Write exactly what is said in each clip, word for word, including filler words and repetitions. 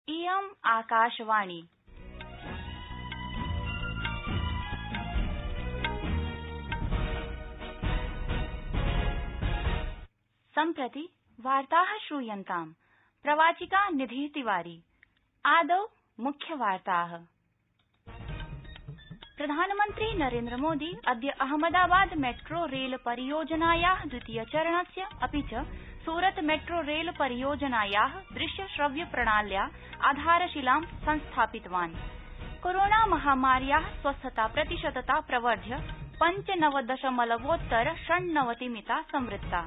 इयम् आकाशवाणी। सम्प्रति वार्ताः श्रूयन्ताम्। प्रवाचिका निधि तिवारी। आदौ मुख्यवार्ताः। प्रधानमन्त्री नरेन्द्र मोदी अद्य अहमदाबाद मेट्रो रेल परियोजनायाः द्वितीयचरणस्य अपि च सूरत मेट्रो रेल परियोजनायाः दृश्य श्रव्य प्रणाल्या आधारशिलां संस्थापितवान्। कोरोना महामार्याः स्वस्थताप्रतिशतता प्रवर्ध्य पञ्चनवदशमलवोत्तर षण्णवतिमिता संवृत्ता।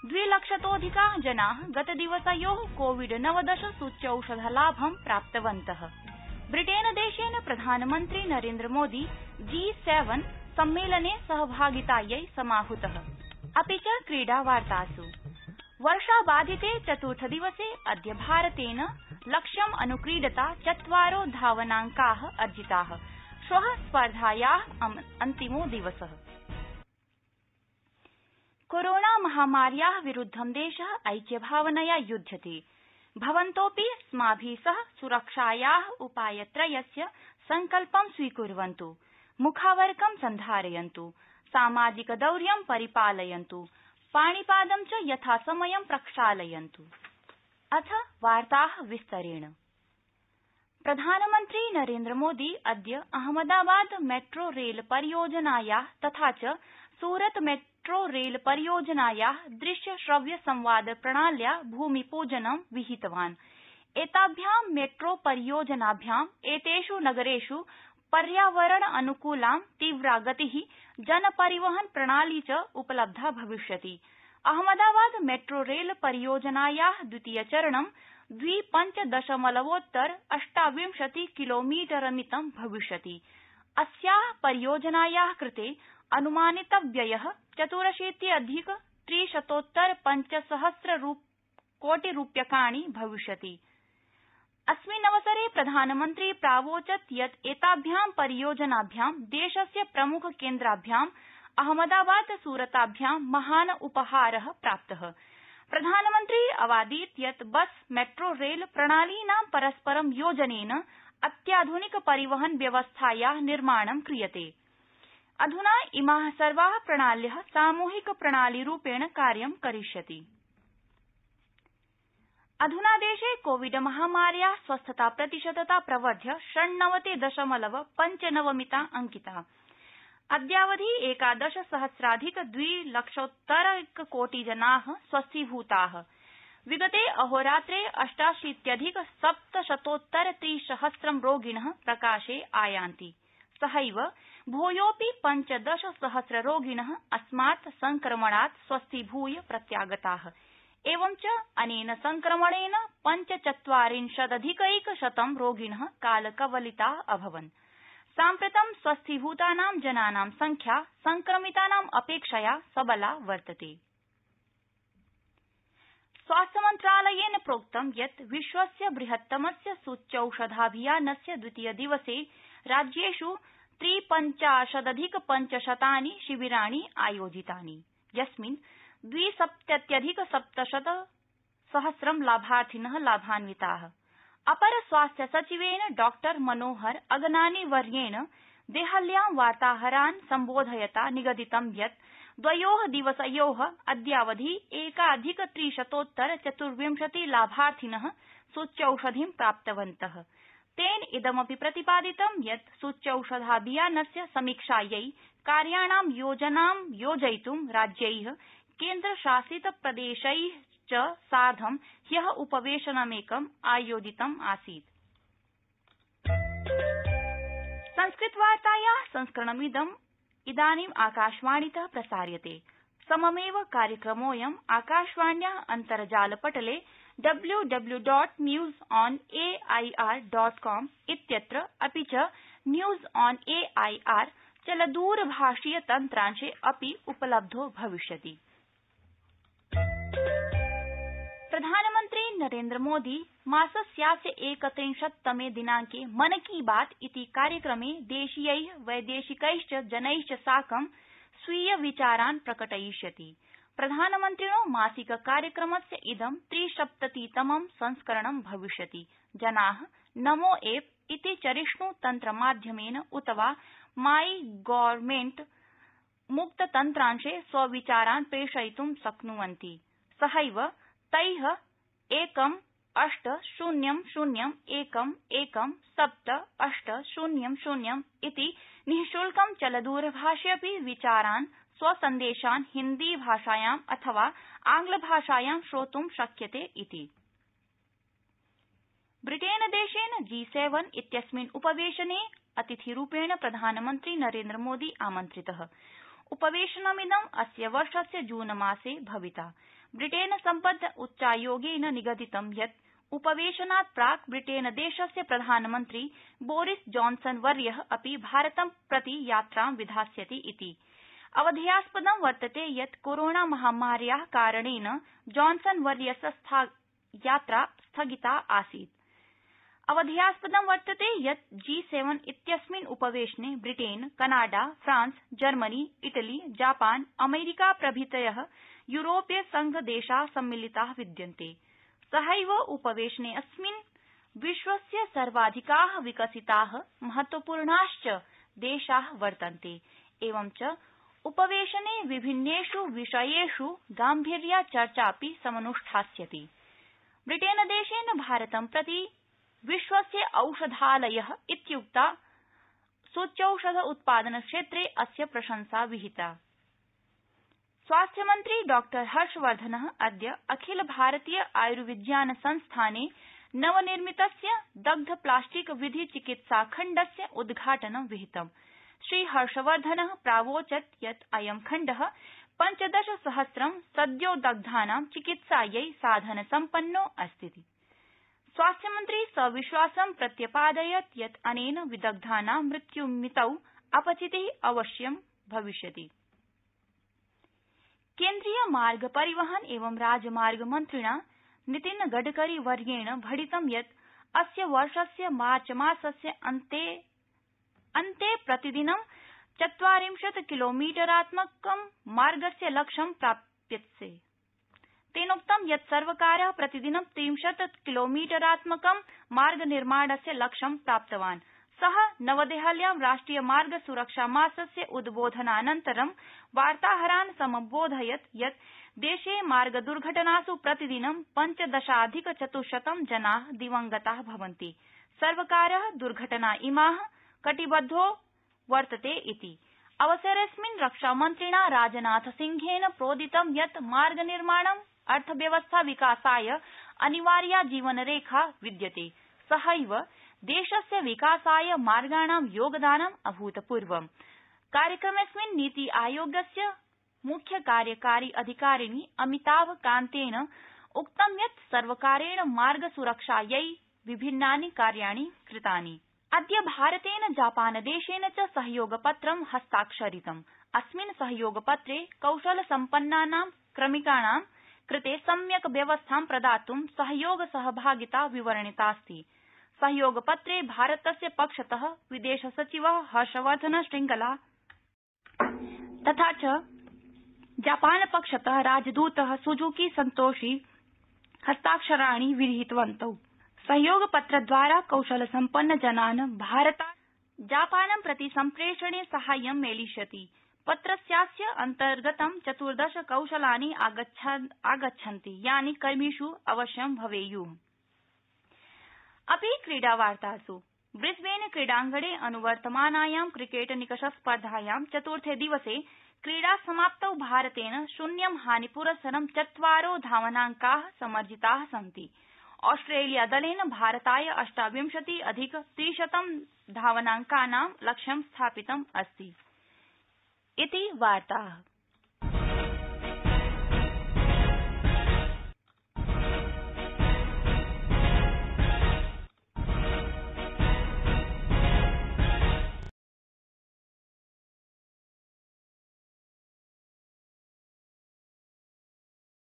द्विलक्षतोऽधिका जनाः गतदिवसयोः कोविड नवदश सूच्यौषधलाभं प्राप्तवन्तः। ब्रिटेनदेशेन प्रधानमन्त्री नरेन्द्र मोदी जी सेवन सम्मेलने सहभागितायै समाहूतः। अपि च क्रीडावार्तासु। वर्षाबाधिते चतुर्थदिवसे अद्य भारतेन लक्ष्यम् अनुक्रीडता चत्वारो धावनाङ्काः अर्जिताः। श्वः स्पर्धायाः अन्तिमो दिवसः। कोरोना महामार्याः विरुद्धं देशः ऐक्यभावनया युध्यते। भवन्तोऽपि अस्माभिः सह सुरक्षायाः उपायत्रयस्य सङ्कल्पं स्वीकुर्वन्तु। मुखावरकं सन्धारयन्तु। सामाजिकदौर्यं परिपालयन्तु। पाणिपादं च यथासमयं प्रक्षालयन्तु। अथ वार्ताः विस्तरेण। प्रधानमन्त्री नरेन्द्र मोदी अद्य अहमदाबाद मेट्रो रेल परियोजनायाः तथा च सूरत मेट्रो रेल परियोजनायाः दृश्य श्रव्य संवाद प्रणाल्या भूमिपूजनं विहितवान्। एताभ्यां मेट्रो परियोजनाभ्याम् एतेष् नगरेष् पर्यावरण अनुकूला तीव्रा गतिः जनपरिवहन प्रणाली च उपलब्धा भविष्यति। अहमदाबाद मेट्रो रेल परियोजनायाः द्वितीयचरणं द्वि पंच दशमलवोत्तर अष्टाविंशति किलोमीटरमितं भविष्यति। अस्याः परियोजनायाः कृते अनुमानितव्ययः चतुरशीत्यधिक त्रिशतोत्तर पञ्चसहस्र कोटिरूप्यकाणि भविष्यति। अस्मिन्नवसरे प्रधानमन्त्री प्रावोचत् यत् एताभ्यां परियोजनाभ्यां देशस्य प्रमुख केन्द्राभ्याम् अहमदाबाद सूरताभ्यां महान् उपहारः प्राप्तः। प्रधानमन्त्री अवादीत् यत् बस मेट्रो रेल प्रणालीनां परस्परं योजनेन अत्याधुनिक परिवहन व्यवस्थायाः निर्माणं क्रियते। अधुना इमाः सर्वाः प्रणाल्यः सामूहिक प्रणालीरूपेण कार्यं करिष्यति। अधुना देशे कोविड महामार्याः स्वस्थताप्रतिशतता प्रवर्ध्य षण्णवति दशमलव पञ्चनवमिता अंकिता। अद्यावधि एकादश सहस्राधिक द्विलक्षोत्तरैककोटिजनाः स्वस्थीभूताः। विगते अहोरात्रे अष्टाशीत्यधिक सप्तशतोत्तर त्रिसहस्रं रोगिणः प्रकाशे आयान्ति। सहैव भूयोऽपि पञ्चदश सहस्र रोगिणः अस्मात् संक्रमणात् स्वस्थीभूय प्रत्यागताः। एवञ्च अनेन संक्रमणेन पञ्चचत्वारिंशदधिकैकशतं रोगिणः कालकवलिताः अभवन्। साम्प्रतं स्वस्थीभूतानां जनानां संख्या संक्रमितानाम् अपेक्षया सबला वर्तते। स्वास्थ्यमन्त्रालयेन प्रोक्तं यत् विश्वस्य बृहत्तमस्य सूच्यौषधाभियानस्य द्वितीयदिवसे राज्येष् त्रिपञ्चाशदधिक पञ्चशतानि शिबिराणि आयोजितानि, यस्मिन् द्विसप्तत्यधिक सप्तशत सहस्रं लाभार्थिनः लाभान्विताः। अपर स्वास्थ्य सचिवेन डॉ मनोहर अगनानी वर्येण देहल्यां वार्ताहरान् सम्बोधयता निगदितं यत् द्वयोः दिवसयोः अद्यावधि एकाधिक त्रिशतोत्तर चतुर्विंशति लाभार्थिनः सूच्यौषधिं प्राप्तवन्तः। तेन इदमपि प्रतिपादितं यत् सूच्यौषधाभियानस्य समीक्षायै कार्याणां योजनां योजयितुं राज्यैः केन्द्रशासितप्रदेशैः च सार्धं ह्यः उपवेशनमेकम् आयोजितम् आसीत्। संस्कृतवार्तायाः संस्करणमिदम् इदानीम् आकाशवाणीतः प्रसार्यते। सममेव कार्यक्रमोऽयम् आकाशवाण्याः अन्तर्जालपटले W W dot news on A I R dot com इत्यत्र अपि च news on A I R चलदूरभाषीय तन्त्रांशे अपि उपलब्धो भविष्यति। प्रधानमन्त्री नरेन्द्र मोदी मासस्यास्य एकत्रिंशत्तमे दिनांके मन की बात इति कार्यक्रमे देशीयैः वैदेशिकैश्च जनैश्च साकं स्वीय विचारान् प्रकटयिष्यति। प्रधानमन्त्रिणो मासिक कार्यक्रमस्य इदं त्रिसप्ततितमं संस्करणं भविष्यति। जना नमो एप इति चरिष्णु तन्त्रमाध्यमेन उत वा माई गवर्नमेंट मुक्ततन्त्रांशे स्वविचारान् प्रेषयितुं शक्नुवन्ति। सहैव तै एकम् अष्ट शून्यं शून्यं एकम् एकं सप्त अष्ट शून्यं शून्यं इति निःशुल्कं चलदूरभाषेऽपि विचारान् स्वसन्देशान् हिन्दी भाषायाम् अथवा आंग्लभाषायां श्रोतुं शक्यते इति। ब्रिटेनदेशेन जी सेवन इत्यस्मिन् उपवेशने अतिथिरूपेण प्रधानमन्त्री नरेन्द्रमोदी आमन्त्रितः। उपवेशनमिदं अस्य वर्षस्य जूनमासे भविता। ब्रिटेन सम्बद्ध उच्चायोगेन निगदितं यत् उपवेशनात् प्राक् ब्रिटेनदेशस्य प्रधानमन्त्री बोरिस जॉनसन वर्यः अपि भारतं प्रति यात्रां विधास्यति इति। अवधेयास्पदं वर्तते यत् कोरोना महामार्याः कारणेन जॉनसन वर्यस्य यात्रा स्थगिता आसीत्। अवधेयास्पदं वर्तते यत् जी सेवन इत्यस्मिन् उपवेशने Britain, Canada, France, Germany, Italy, Japan, America प्रभृतयः यूरोपीय संघ देशाः सम्मिलिताः विद्यन्ते। सहैव उपवेशनेऽस्मिन् विश्वस्य सर्वाधिकाः विकसिताः महत्वपूर्णाश्च देशाः वर्तन्ते। एवञ्च उपवेशने विभिन्नेषु विषयेषु गाम्भीर्या चर्चापि समनुष्ठास्यति। ब्रिटेनदेशेन भारतं प्रति विश्वस्य औषधालयः इत्युक्ता सूच्यौषध उत्पादन क्षेत्रे अस्य प्रशंसा विहिता। स्वास्थ्यमन्त्री डॉ हर्षवर्धनः अद्य अखिल भारतीय आयुर्विज्ञान संस्थाने नवनिर्मितस्य दग्ध प्लास्टिक विधि चिकित्सा खण्डस्य उद्घाटनं विहितम्। श्रीहर्षवर्धनः प्रावोचत् यत् अयं खण्डः पञ्चदश सहस्रं सद्योदग्धानां चिकित्सायै साधनसम्पन्नो अस्ति। स्वास्थ्यमन्त्री सविश्वासं प्रत्यपादयत् यत् अनेन विदग्धानां मृत्युमितौ अपचितिः अवश्यं भविष्यति। केन्द्रीय मार्ग परिवहन एवं राजमार्ग मन्त्रिणा नितिन गडकरी वर्येण भणितं यत् अस्य वर्षस्य मार्चमासस्य अन्ते अन्ते प्रतिदिनं चत्वारिंशत् किलोमीटरात्मकं मार्गस्य लक्ष्यं प्राप्स्यते। तेनोक्तं यत् सर्वकारः प्रतिदिनं त्रिंशत् किलोमीटरात्मकं मार्गनिर्माणस्य लक्ष्यं प्राप्तवान्। सः नवदेहल्यां राष्ट्रिय मार्ग सुरक्षा मासस्य उद्बोधनानन्तरं वार्ताहरान् समबोधयत् यत् देशे मार्गदुर्घटनासु प्रतिदिनं पञ्चदशाधिक चतुश्शतं जनाः दिवंगताः भवन्ति। सर्वकारः दुर्घटना इमाः कटिबद्धो वर्तते इति। अवसरेऽस्मिन् रक्षामन्त्रिणा राजनाथसिंहेन प्रोदितं यत् मार्गनिर्माणं अर्थव्यवस्था विकासाय अनिवार्या जीवनरेखा विद्यते। सहैव देशस्य विकासाय मार्गाणां योगदानम् अभूतपूर्वम्। कार्यक्रमेऽस्मिन् नीति आयोगस्य मुख्य कार्यकारी अधिकारिणी अमिताभ कान्तेन उक्तं यत् सर्वकारेण मार्ग सुरक्षायै विभिन्नानि कार्याणि कृतानि। अद्य भारतेन जापानदेशेन च सहयोगपत्रं हस्ताक्षरितम्। अस्मिन् सहयोगपत्रे कौशलसम्पन्नानां क्रमिकाणां कृते सम्यक् व्यवस्थां प्रदातुं सहयोग सहभागिता विवर्णितास्ति। सहयोगपत्रे भारतस्य पक्षतः विदेशसचिवः हर्षवर्धन श्रृंगला तथा च जापानपक्षतः राजदूतः सुजुकी संतोषी हस्ताक्षराणि विहितवन्तौ। सहयोगपत्रद्वारा कौशलसम्पन्न जनान् भारतात् जापानं प्रति सम्प्रेषणे साहाय्यं मेलिष्यति। पत्रस्यास्य अन्तर्गतं चतुर्दश कौशलानि आगच्छन्ति यानि कर्मिषु अवश्यं भवेयुः। अपि क्रीडावार्तासु ब्रिस्बेन क्रीडाङ्गणे अनुवर्तमानायां क्रिकेट निकषस्पर्धायां चतुर्थे दिवसे क्रीडासमाप्तौ भारतेन शून्यं हानिपुरस्सरं चत्वारो धावनाङ्काः समर्जिताः सन्ति। ऑस्ट्रेलियादलेन भारताय अष्टाविंशति अधिक त्रिशतं धावनाङ्कानां लक्ष्यं स्थापितम् अस्ति। इति वार्ताः।